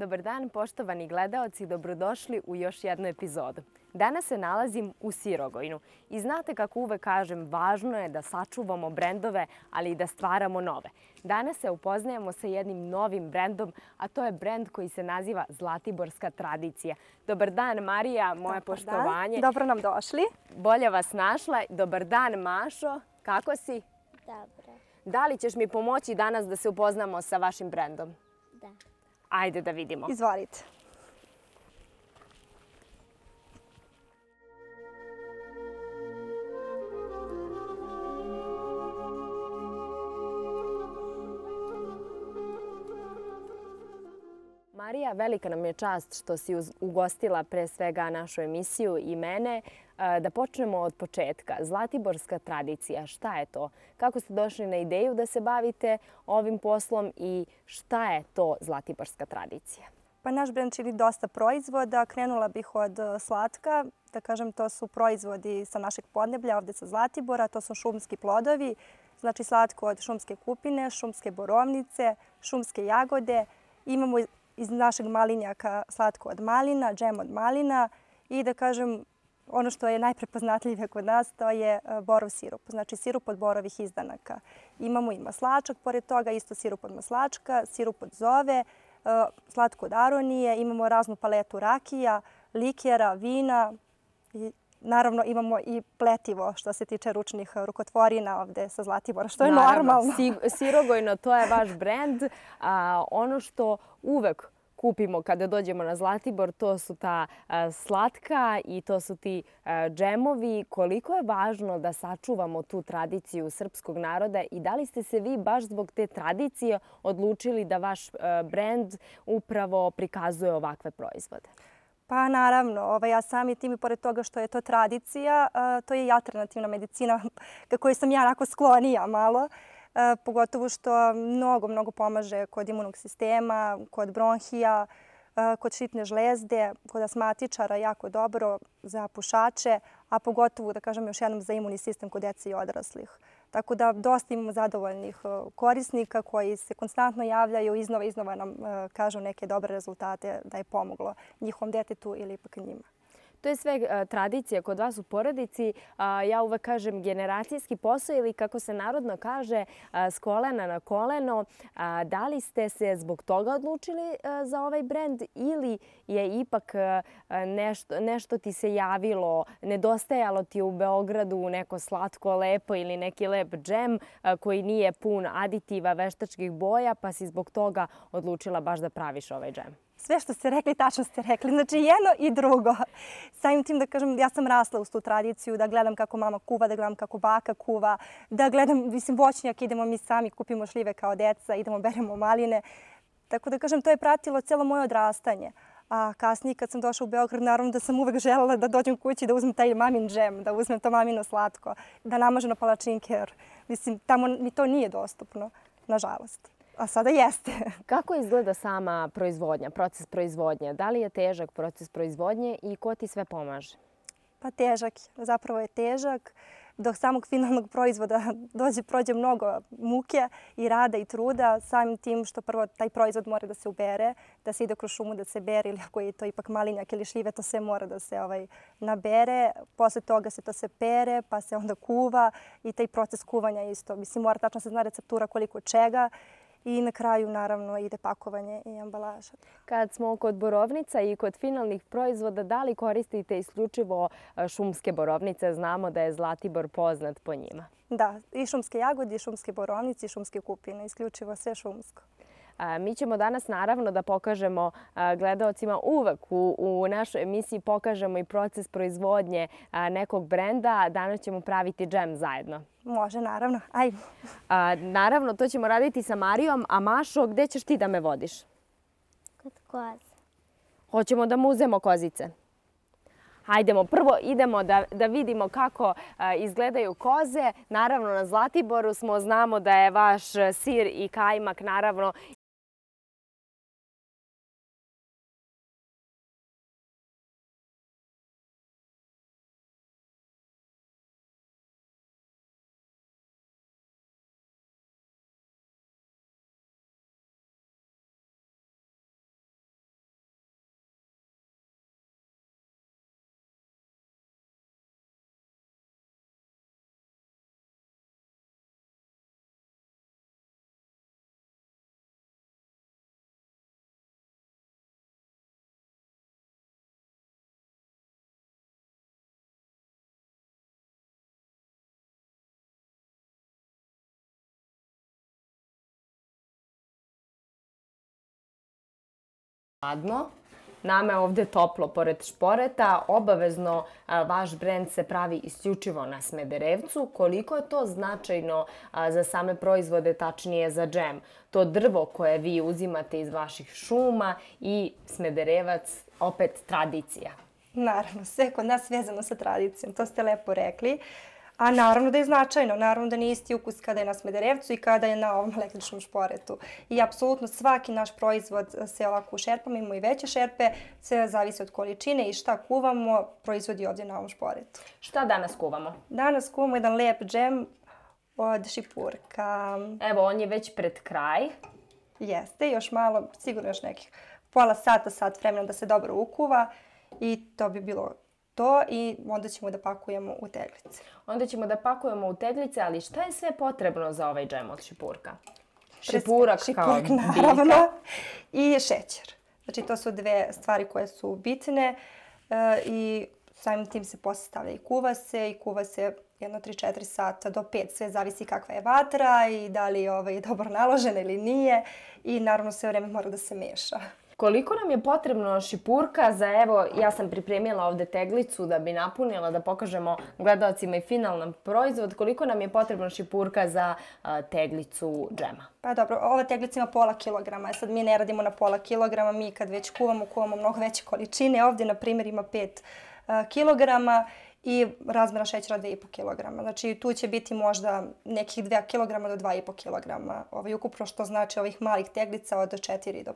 Dobar dan, poštovani gledaoci, dobrodošli u još jednu epizodu. Danas se nalazim u Sirogojnu i znate kako uvek kažem, važno je da sačuvamo brendove, ali i da stvaramo nove. Danas se upoznajemo sa jednim novim brendom, a to je brend koji se naziva Zlatiborska tradicija. Dobar dan, Marija, moje poštovanje. Dobro nam došli. Bolje vas našla. Dobar dan, Mašo, kako si? Dobro. Da li ćeš mi pomoći danas da se upoznamo sa vašim brendom? Da. Ajde da vidimo. Izvolite. Marija, velika nam je čast što si ugostila pre svega našu emisiju i mene. Da počnemo od početka. Zlatiborska tradicija, šta je to? Kako ste došli na ideju da se bavite ovim poslom i šta je to Zlatiborska tradicija? Pa naš brend čini dosta proizvoda. Krenula bih od slatka. Da kažem, to su proizvodi sa našeg podneblja, ovde sa Zlatibora. To su šumski plodovi, znači slatko od šumske kupine, šumske borovnice, šumske jagode. Imamo iz našeg malinjaka slatko od malina, džem od malina i da kažem, ono što je najprepoznatljivije kod nas, to je borov sirup, znači sirup od borovih izdanaka. Imamo i maslačak, pored toga isto sirup od maslačka, sirup od zove, slatko od aronije, imamo raznu paletu rakija, likera, vina i naravno imamo i pletivo što se tiče ručnih rukotvorina ovde sa Zlatibora, što je normalno. Sirogojno, to je vaš brend. Ono što uvek kupimo kada dođemo na Zlatibor, to su ta slatka i to su ti džemovi. Koliko je važno da sačuvamo tu tradiciju srpskog naroda i da li ste se vi baš zbog te tradicije odlučili da vaš brend upravo prikazuje ovakve proizvode? Pa naravno, ja sami tim i pored toga što je to tradicija, to je i alternativna medicina kojoj sam ja onako sklonija malo. Pogotovo što mnogo pomaže kod imunog sistema, kod bronhija, kod šipne žlezde, kod astmatičara jako dobro, za pušače, a pogotovo, da kažem još jednom, za imunni sistem kod dece i odraslih. Tako da dosta imamo zadovoljnih korisnika koji se konstantno javljaju, iznova nam kažu neke dobre rezultate da je pomoglo njihovom detetu ili ipak njima. To je sve tradicija kod vas u porodici. Ja uvek kažem generacijski posao ili kako se narodno kaže s kolena na koleno. Da li ste se zbog toga odlučili za ovaj brend ili je ipak nešto ti se javilo, nedostajalo ti u Beogradu neko slatko lepo ili neki lep džem koji nije pun aditiva, veštačkih boja, pa si zbog toga odlučila baš da praviš ovaj džem? Sve što ste rekli, tačno ste rekli. Znači jedno i drugo. Samim tim da kažem, ja sam rasla uz tu tradiciju, da gledam kako mama kuva, da gledam kako baka kuva, da gledam, voćnjak, idemo mi sami, kupimo šljive kao deca, idemo beremo maline. Tako da kažem, to je pratilo cijelo moje odrastanje. A kasnije kad sam došla u Beograd, naravno da sam uvek želela da dođem kući, da uzmem taj mamin džem, da uzmem to mamino slatko, da namažem na palačinke, jer mislim, tamo mi to nije dostupno, nažalost. A sada jeste. Kako izgleda sama proizvodnja, proces proizvodnje? Da li je težak proces proizvodnje i ko ti sve pomaže? Pa težak, zapravo je težak. Do samog finalnog proizvoda prođe mnogo muke i rada i truda, samim tim što prvo taj proizvod mora da se ubere, da se ide kroz šumu da se bere ili ako je to ipak malinjak ili šljive, to sve mora da se nabere. Posle toga se to se pere, pa se onda kuva i taj proces kuvanja isto. Mislim, mora tačno se zna receptura koliko čega. I na kraju, naravno, ide pakovanje i ambalaža. Kad smo kod borovnica i kod finalnih proizvoda, da li koristite isključivo šumske borovnice? Znamo da je Zlatibor poznat po njima. Da, i šumske jagode, i šumske borovnice, i šumske kupine. Isključivo sve šumsko. Mi ćemo danas naravno da pokažemo gledaocima uvek u našoj emisiji pokažemo i proces proizvodnje nekog brenda. Danas ćemo praviti džem zajedno. Može, naravno. Ajde. Naravno, to ćemo raditi sa Marijom. A Mašo, gde ćeš ti da me vodiš? Kod koze. Hoćemo da mu uzemo kozice. Hajdemo, prvo idemo da vidimo kako izgledaju koze. Naravno, na Zlatiboru znamo da je vaš sir i kajmak, naravno, Hladno. Nama je ovde toplo pored šporeta. Obavezno vaš brend se pravi isključivo na Smederevcu. Koliko je to značajno za same proizvode, tačnije za džem? To drvo koje vi uzimate iz vaših šuma i Smederevac, opet tradicija. Naravno, sve kod nas vezano sa tradicijom, to ste lepo rekli. A naravno da je značajno, naravno da nije isti ukus kada je na Smederevcu i kada je na ovom električnom šporetu. I apsolutno svaki naš proizvod se ovako u šerpama, imamo i veće šerpe, sve zavisi od količine i šta kuvamo, proizvodi ovdje na ovom šporetu. Šta danas kuvamo? Danas kuvamo jedan lijep džem od šipurka. Evo, on je već pred kraj. Jeste, još malo, sigurno još nekih pola sata, sat vremena da se dobro ukuva i to bi bilo to i onda ćemo da pakujemo u teglice. Onda ćemo da pakujemo u teglice, ali šta je sve potrebno za ovaj džem od šipurka? Šipurak kao naravno, biljka. I šećer. Znači to su dve stvari koje su bitne i samim tim se posle stavlja i kuva se jedno 3-4 sata do 5, sve zavisi kakva je vatra i da li je dobro naložena ili nije i naravno sve vreme mora da se meša. Koliko nam je potrebno šipurka za, evo, ja sam pripremila ovde teglicu da bi napunila, da pokažemo gledalcima i finalan proizvod. Koliko nam je potrebno šipurka za teglicu džema? Pa dobro, ova teglica ima pola kilograma. Sad mi ne radimo na pola kilograma, mi kad već kuvamo mnogo veće količine. Ovdje, na primjer, ima 5 kilograma i razmjera šećera 2,5 kilograma. Znači tu će biti možda nekih 2 kilograma do 2,5 kilograma ukupno, što znači ovih malih teglica od 4 do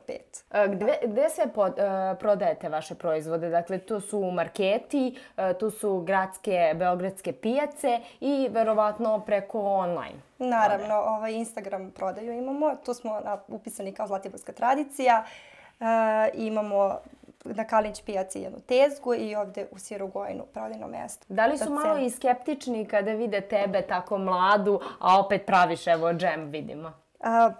5. Gde sve prodajete vaše proizvode? Dakle, tu su marketi, tu su beogradske pijace i verovatno preko online. Naravno, Instagram prodaju imamo. Tu smo upisani kao Zlatiborska tradicija. Imamo na Kalinić pijaci jednu tezgu i ovdje u Sirogojnu prodajno mjesto. Da li su malo i skeptični kada vide tebe tako mladu, a opet praviš evo džem, vidimo?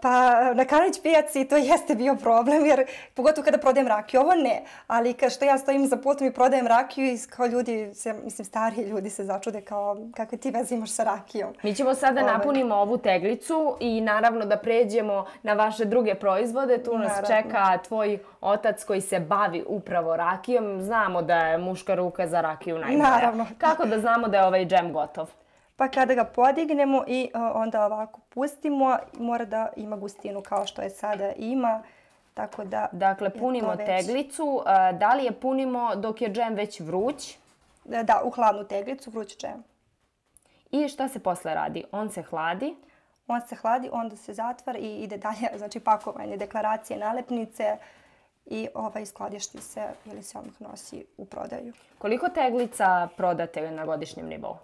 Pa na Kalinić pijaci to jeste bio problem, jer pogotovo kada prodajem rakiju, ovo ne, ali što ja stojim za putom i prodajem rakiju i kao ljudi, stariji ljudi se začude kao kakve ti veze imaš sa rakijom. Mi ćemo sada napunimo ovu teglicu i naravno da pređemo na vaše druge proizvode. Tu nas čeka tvoj otac koji se bavi upravo rakijom. Znamo da je muška ruka za rakiju najbolja. Naravno. Kako da znamo da je ovaj džem gotov? Pa kada ga podignemo i onda ovako pustimo, mora da ima gustinu kao što je sada ima. Tako da dakle, punimo teglicu. Da li je punimo dok je džem već vruć? Da, u hladnu teglicu, vruć džem. I šta se posle radi? On se hladi? On se hladi, onda se zatvara i ide dalje, znači pakovanje, deklaracije, nalepnice i skladišti se ili se odmah nosi u prodaju. Koliko teglica prodate na godišnjem nivou?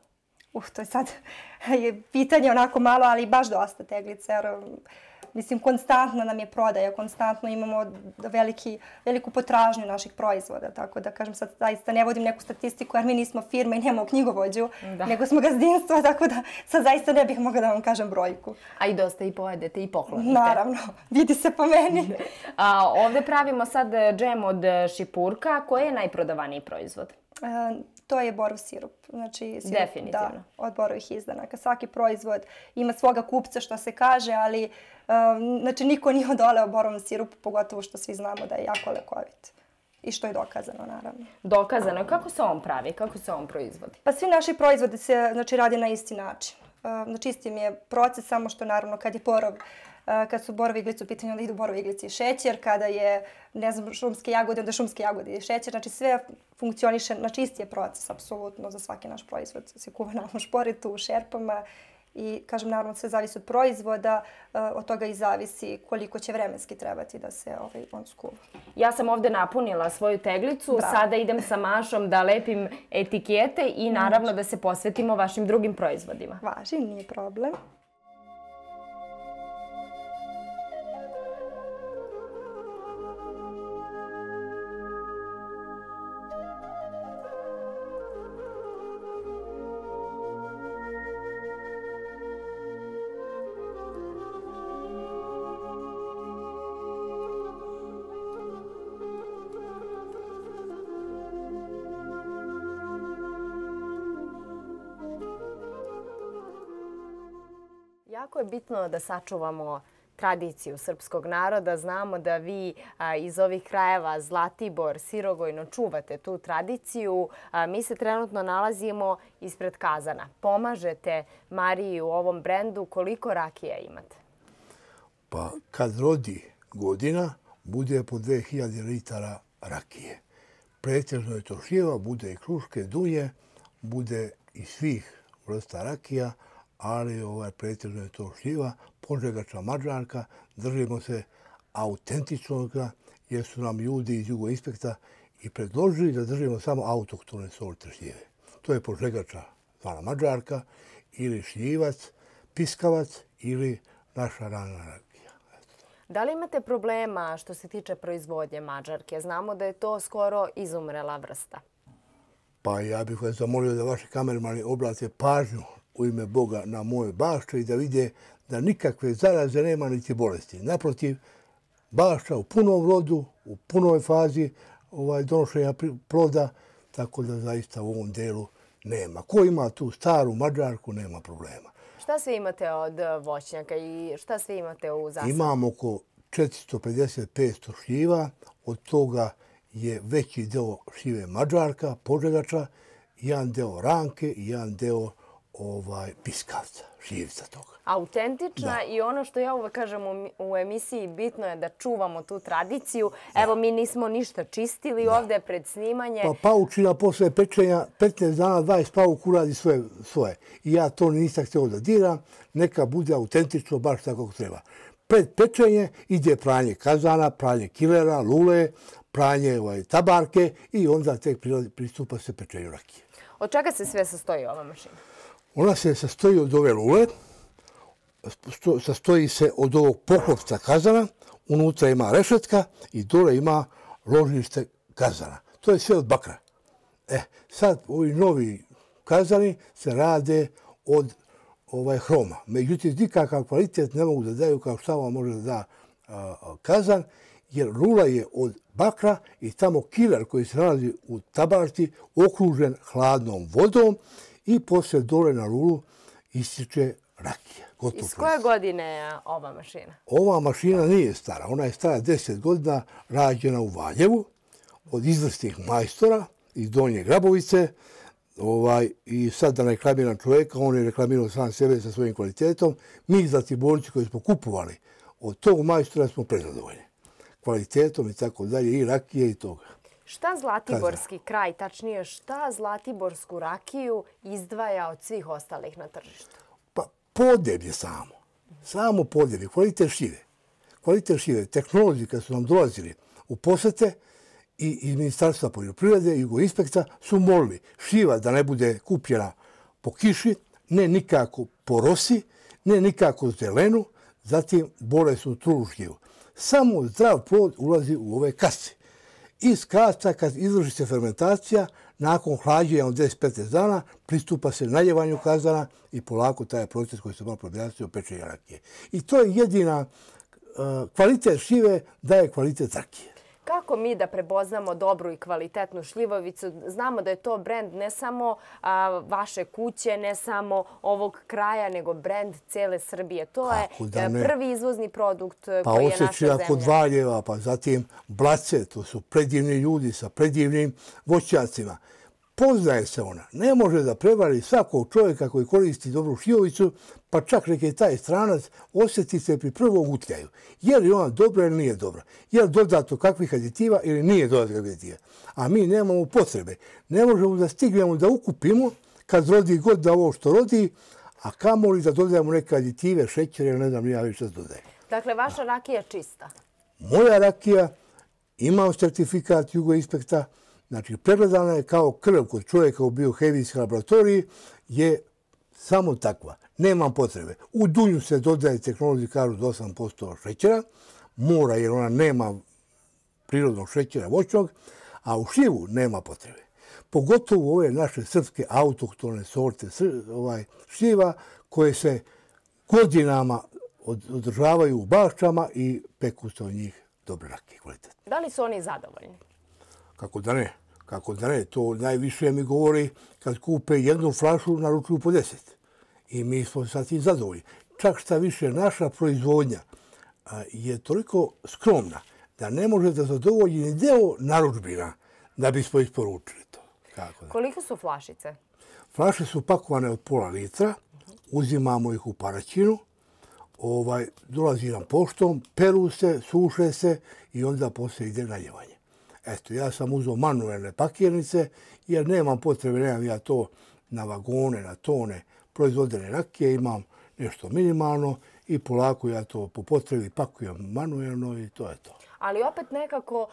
To je sad pitanje onako malo, ali baš dosta teglica. Mislim, konstantno nam je prodaja, konstantno imamo veliku potražnju naših proizvoda. Tako da, kažem, sad zaista ne vodim neku statistiku jer mi nismo firma i nemamo knjigovođu, nego smo gazdinstvo, tako da sad zaista ne bih mogla da vam kažem brojku. A i dosta i pojedete i poklonite. Naravno, vidi se po meni. Ovdje pravimo sad džem od šipurka. Koji je najprodavaniji proizvod? To je borov sirup. Znači, definitivno. Da, od borovih izdanaka. Svaki proizvod ima svoga kupca, što se kaže, ali znači, niko nije odoleo borovom sirupu, pogotovo što svi znamo da je jako lekovit. I što je dokazano, naravno. Dokazano. Kako se on pravi? Kako se on proizvodi? Pa svi naši proizvodi se radi na isti način. Znači, isti mi je proces, samo što naravno kad je kad su borove iglice u pitanju, onda idu borove iglice i šećer. Kada je, ne znam, šumske jagode, onda šumske jagode i šećer. Znači sve funkcioniše, znači isti je proces, apsolutno, za svaki naš proizvod. Se kuva na ovom šporetu, u šerpama i, kažem, naravno sve zavisi od proizvoda, od toga i zavisi koliko će vremenski trebati da se on skuva. Ja sam ovdje napunila svoju teglicu, sada idem sa Mašom da lepim etikete i naravno da se posvetimo vašim drugim proizvodima. Važi, nije problem. Jako je bitno da sačuvamo tradiciju srpskog naroda. Znamo da vi iz ovih krajeva Zlatibor, Sirogojno čuvate tu tradiciju. Mi se trenutno nalazimo ispred kazana. Pomažete Mariji u ovom brendu. Koliko rakija imate? Pa kad rodi godina, bude po 2000 litara rakije. Pretežno je to šljiva, bude i kruške, dunje, bude i svih vrsta rakija, ali pretežno je to šljiva, Požegača, Mađarka. Držimo se autentičnoga jer su nam ljudi iz Jugoinspekta i predložili da držimo samo autohtone sorte šljive. To je Požegača, zvana Mađarka, ili šljivac, piskavac ili naša rana rakija. Da li imate problema što se tiče proizvodnje Mađarke? Znamo da je to skoro izumrela vrsta. Pa ja bih vas zamolio da vaši kamermani obrate pažnju u ime Boga na moje bašče i da vide da nikakve zaraze nema niti bolesti. Naprotiv, bašča u punom rodu, u punoj fazi donošenja ploda, tako da zaista u ovom delu nema. Ko ima tu staru Mađarku, nema problema. Šta sve imate od voćnjaka i šta sve imate u zasadu? Imamo oko 450-500 šljiva, od toga je veći deo šljive Mađarka, Požegača, jedan deo ranke i jedan deo piskavca, šljivca toga. Autentična i ono što ja uvek kažem u emisiji, bitno je da čuvamo tu tradiciju. Evo, mi nismo ništa čistili ovdje pred snimanje. Pa paučina posle pečenja, 15 dana, 20 pauk uradi svoje. I ja to nisam htio da diram, neka bude autentično baš tako kako treba. Pred pečenje ide pranje kazana, pranje kilera, lule, pranje tabarke i onda tek pristupa se pečenju rakije. Od čega se sve sastoji ova mašina? Ona se sastoji od ove lule, sastoji se od ovog poklopca kazana, unutra ima rešetka i dole ima ložište kazana. To je sve od bakra. Sad ovi novi kazani se rade od hroma. Međutim, nikakav kvalitet ne mogu da daju kao šta vam može da da kazan, jer lula je od bakra i tamo kiler koji se nalazi u tabarti okružen hladnom vodom i poslije dole na lulu ističe rakija. Iz koje godine je ova mašina? Ova mašina nije stara. Ona je stara 10 godina, rađena u Valjevu od izvrsnih majstora iz Donje Grabovice. I sad da ne reklamiram čovjeka, on je reklamirao sam sebe sa svojim kvalitetom. Mi Zlatiborci koji smo kupovali od tog majstora smo prezadovoljni. Kvalitetom i tako dalje, i rakije i toga. Šta Zlatiborski kraj, tačnije šta Zlatiborsku rakiju izdvaja od svih ostalih na tržištu? Pa podneblje samo. Samo podneblje. Kvalitet šljive. Kvalitet šljive. Tehnolozi kad su nam dolazili u posete i iz Ministarstva poljoprivrede i Jugoinspekta su molili šljiva da ne bude kupljena po kiši, ne nikako po rosi, ne nikako zelenu, zatim bolesnu trulu šljivu. Samo zdrav plod ulazi u ove kase. Iz kasa, kad izvrši se fermentacija, nakon hlađenja od 10-15 dana, pristupa se naljevanju kazana i polako taj proces koji se malo objasnio pečenja rakije. I to je jedina kvalitet šljive daje kvalitet rakije. Kako mi da prepoznamo dobru i kvalitetnu šljivovicu? Znamo da je to brend ne samo vaše kuće, ne samo ovog kraja, nego brend cele Srbije. To je prvi izvozni produkt koji je naša zemlja. Pa Osečina kod Valjeva, pa zatim Blace, to su predivni ljudi sa predivnim voćnjacima. Poznaje se ona. Ne može da prevari svakog čovjeka koji koristi dobru šljivovicu, pa čak neki taj stranac osjeti se pri prvom utljaju. Je li ona dobra ili nije dobra? Je li dodato kakvih aditiva ili nije dodato kakvih aditiva? A mi nemamo potrebe. Ne možemo da stignemo da ukupimo kad rodi god da ovo što rodi, a kamoli da dodajemo neke aditive, šećere ili ne znam ja više što dodaje. Dakle, vaša rakija je čista? Moja rakija ima certifikat Jugoinspekta. Znači, pregledana je kao krv kod čovjeka u biohemijskoj laboratoriji, je samo takva. Nemam potrebe. U dunju se dodaje tehnologiji kažu do 8% šećera, mora jer ona nema prirodnog šećera voćnog, a u šljivu nema potrebe. Pogotovo ove naše srpske autohtone sorte šljiva koje se godinama održavaju u baščama i peku se od njih dobre rakije kvalitete. Da li su oni zadovoljni? Kako da ne? Kako da ne? To najviše mi govori kad kupe jednu flašu, naručuju po 10. I mi smo sad i zadovoljni. Čak šta više, naša proizvodnja je toliko skromna da ne može da zadovolji ni deo narudžbina da bismo isporučili to. Koliko su flašice? Flaše su pakovane od pola litra, uzimamo ih u Paraćinu, dolazi nam poštom, peru se, suše se i onda poslije ide naljevanje. Eto, ja sam uzeo manuelne pakirnice jer nemam potrebe, nemam ja to na vagone, na tone proizvodene rakije, imam nešto minimalno i polako ja to po potrebi pakujem manuelno i to je to. Ali opet nekako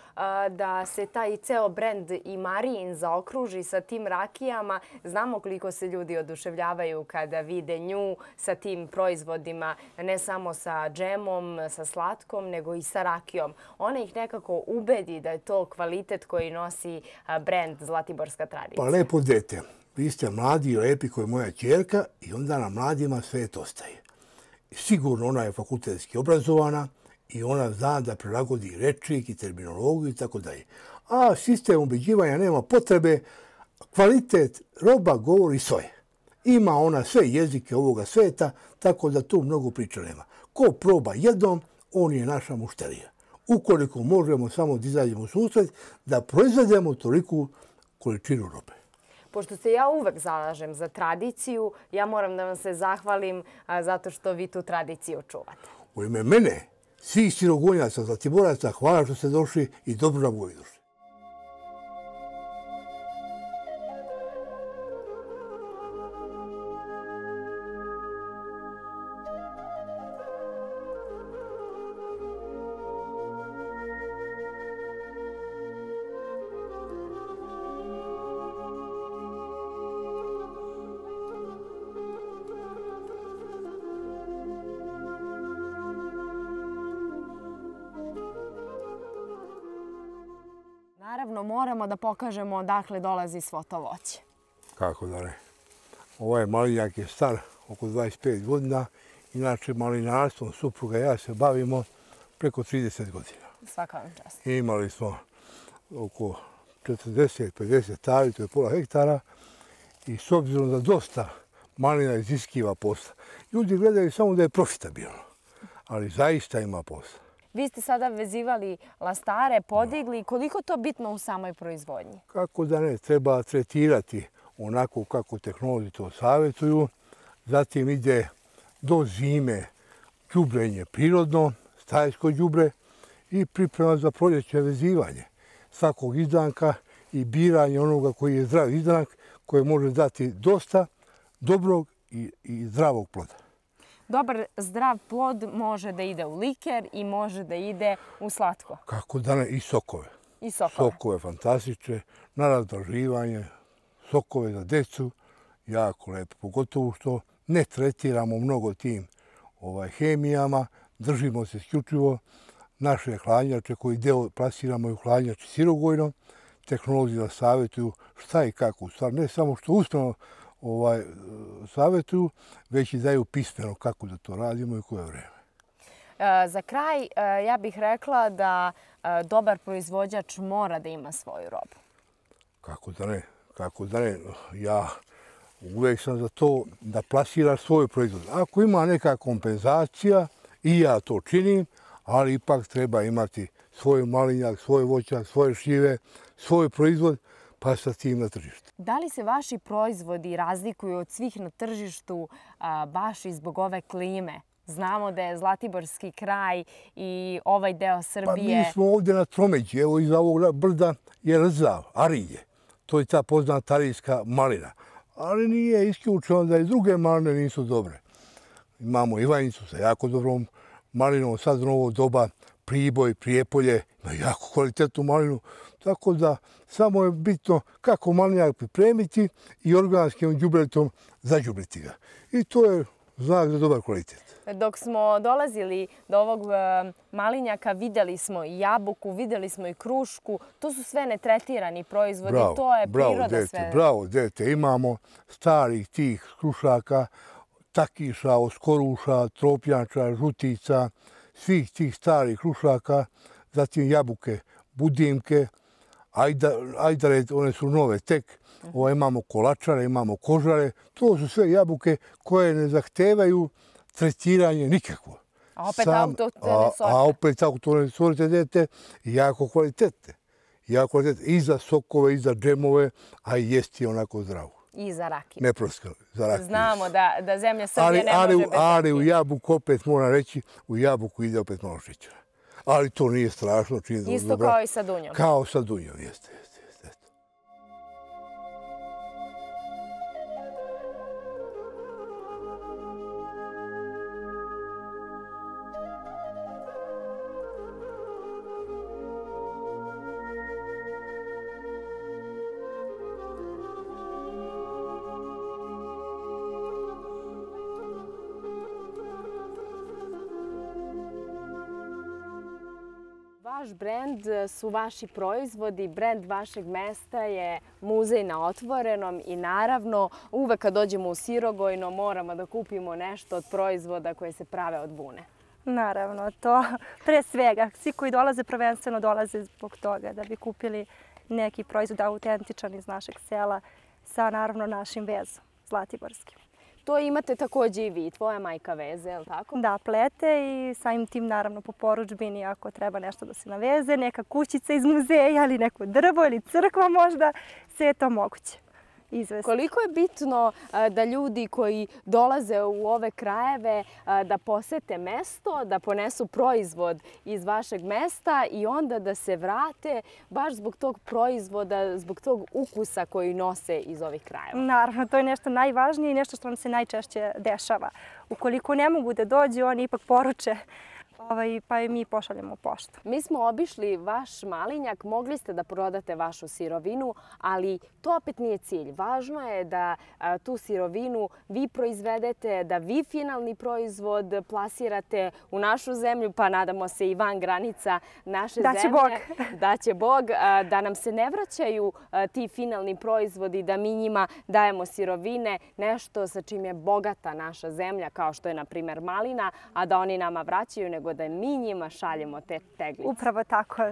da se taj ceo brend i Marijin zaokruži sa tim rakijama. Znamo koliko se ljudi oduševljavaju kada vide nju sa tim proizvodima, ne samo sa džemom, sa slatkom, nego i sa rakijom. Ona ih nekako ubedi da je to kvalitet koji nosi brend Zlatiborska tradicija. Pa lepo dete, vi ste mladi i lepi kao moja ćerka i onda na mladima svet ostaje. Sigurno ona je fakultetski obrazovana, i ona zna da prilagodi rečnik i terminologiju i tako dalje. A sistem ubeđivanja nema potrebe, kvalitet roba govori svoje. Ima ona sve jezike ovoga sveta, tako da tu mnogo priča nema. Ko proba jednom, on je naša mušterija. Ukoliko možemo samo da izađemo u susret, da proizvedemo toliku količinu robe. Pošto se ja uvek zalažem za tradiciju, ja moram da vam se zahvalim zato što vi tu tradiciju čuvate. U ime mene, svih Sirogonjaca, Zlatiboraca, hvala što ste došli i dobro nam uvijek došli. Naravno, moramo da pokažemo odakle dolazi svo to voće. Kako da ne. Ovaj malinjak je star oko 25 godina. Inače, malinarstvom supruga i ja se bavimo preko 30 godina. Svaka vam čast. Imali smo oko 40-50 tali, to je pola hektara. I s obzirom da dosta malina iziskiva posla, ljudi gledaju samo da je profitabilno. Ali zaista ima posla. Vi ste sada vezivali lastare, podigli. Koliko to bitno u samoj proizvodnji? Kako da ne, treba tretirati onako kako tehnolozi to savjetuju. Zatim ide do zime đubrenje prirodno, stajsko đubre i priprema za proljeće vezivanje svakog izdanka i biranje onoga koji je zdrav izdanak koji može dati dosta dobrog i zdravog ploda. Dobar, zdrav plod može da ide u liker i može da ide u slatko. Kako da ne, i sokove. I sokove. Sokove fantastične, na razdraživanje, sokove za decu, jako lepo. Pogotovo što ne tretiramo mnogo tim hemijama, držimo se isključivo naše hladnjače koji deo plasiramo i u hladnjači Sirogojno. Tehnolozi da savjetuju šta i kako. U stvari, ne samo što usmeno savjetuju, već i daju pismeno kako da to radimo i koje vreme. Za kraj, ja bih rekla da dobar proizvođač mora da ima svoju robu. Kako da ne? Kako da ne? Ja uvijek sam za to da plasira svoj proizvod. Ako ima neka kompenzacija, i ja to činim, ali ipak treba imati svoj malinjak, svoj voćak, svoje šljive, svoj proizvod, pa sa tim na tržištu. Da li se vaši proizvodi razlikuju od svih na tržištu baš i zbog ove klime? Znamo da je Zlatiborski kraj i ovaj deo Srbije... Pa mi smo ovdje na tromeđi. Evo iza ovog brda je Rzav, Arilje. To je ta poznata arijska malina. Ali nije isključeno da i druge maline nisu dobre. Imamo Ivanjicu sa jako dobrom malinom, sad u novo doba Priboj, Prijepolje, ima jako kvalitetnu malinu. Tako da samo je bitno kako malinjak pripremiti i organskim đubretom zađubriti ga. I to je znak za dobar kvalitet. Dok smo dolazili do ovog malinjaka, vidjeli smo i jabuku, vidjeli smo i krušku. To su sve netretirani proizvodi, to je priroda sve. Bravo, dete. Imamo starih tih krušaka, takiša, oskoruša, tropnjača, žutica, svih tih starih krušaka, zatim jabuke, budimke, ajdare, one su nove tek. Imamo kolačare, imamo kožare. To su sve jabuke koje ne zahtevaju tretiranje nikakvo. A opet autohtone sorte. A opet autohtone sorte dete, jako kvalitetne. I za sokove, i za džemove, a i jesti onako zdravo. I za rakiju. Neproskal, za rakiju. Znamo da zemlja Srbije ne može bez rakije. Ali u jabuku, opet moram reći, u jabuku ide opet malo šećera. Ali to nije strašno. Isto kao i sa dunjom. Kao sa dunjom, jeste. Vaš brend su vaši proizvodi, brend vašeg mesta je muzej na otvorenom i naravno uvek kad dođemo u Sirogojno moramo da kupimo nešto od proizvoda koje se prave od bune. Naravno, to pre svega. Svi koji dolaze prvenstveno dolaze zbog toga da bi kupili neki proizvod autentičan iz našeg sela sa naravno našim vezom, zlatiborskim. To imate također i vi, tvoja majka veze, je li tako? Da, plete i samim tim naravno po porudžbini ako treba nešto da se naveze, neka kućica iz muzeja ili neko drvo ili crkva možda, sve je to moguće izvesti. Koliko je bitno da ljudi koji dolaze u ove krajeve da posete mesto, da ponesu proizvod iz vašeg mesta i onda da se vrate baš zbog tog proizvoda, zbog tog ukusa koji nose iz ovih krajeva? Naravno, to je nešto najvažnije i nešto što nam se najčešće dešava. Ukoliko ne mogu da dođu, oni ipak poruče pa i mi pošaljemo poštu. Mi smo obišli vaš malinjak, mogli ste da prodate vašu sirovinu, ali to opet nije cilj. Važno je da tu sirovinu vi proizvedete, da vi finalni proizvod plasirate u našu zemlju, pa nadamo se i van granica naše zemlje. Da će Bog. Da će Bog, da nam se ne vraćaju ti finalni proizvodi, da mi njima dajemo sirovine, nešto sa čim je bogata naša zemlja, kao što je, na primjer, malina, a da oni nama vraćaju, nego da mi njima šaljemo te teglice. Upravo tako.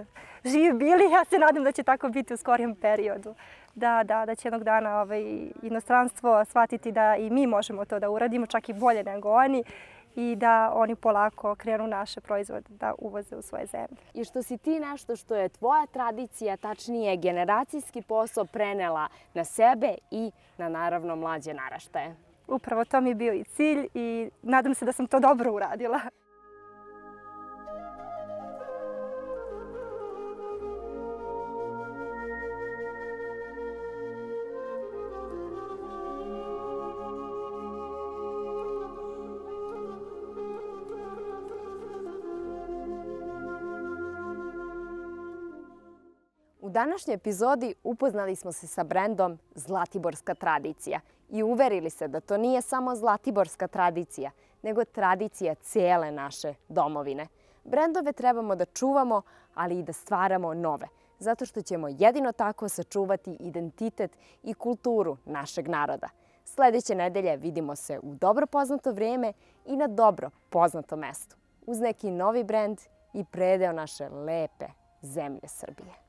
Živi bili, ja se nadam da će tako biti u skorijem periodu. Da će jednog dana inostranstvo shvatiti da i mi možemo to da uradimo, čak i bolje nego oni, i da oni polako krenu naše proizvode da uvoze u svoje zemlje. I što si ti nešto što je tvoja tradicija, tačnije generacijski posao, prenela na sebe i na naravno mlađe naraštaje. Upravo to mi je bio i cilj i nadam se da sam to dobro uradila. U današnjoj epizodi upoznali smo se sa brendom Zlatiborska tradicija i uverili se da to nije samo zlatiborska tradicija, nego tradicija cijele naše domovine. Brendove trebamo da čuvamo, ali i da stvaramo nove, zato što ćemo jedino tako sačuvati identitet i kulturu našeg naroda. Sljedeće nedelje vidimo se u dobro poznato vrijeme i na dobro poznatom mestu, uz neki novi brend i predeo naše lepe zemlje Srbije.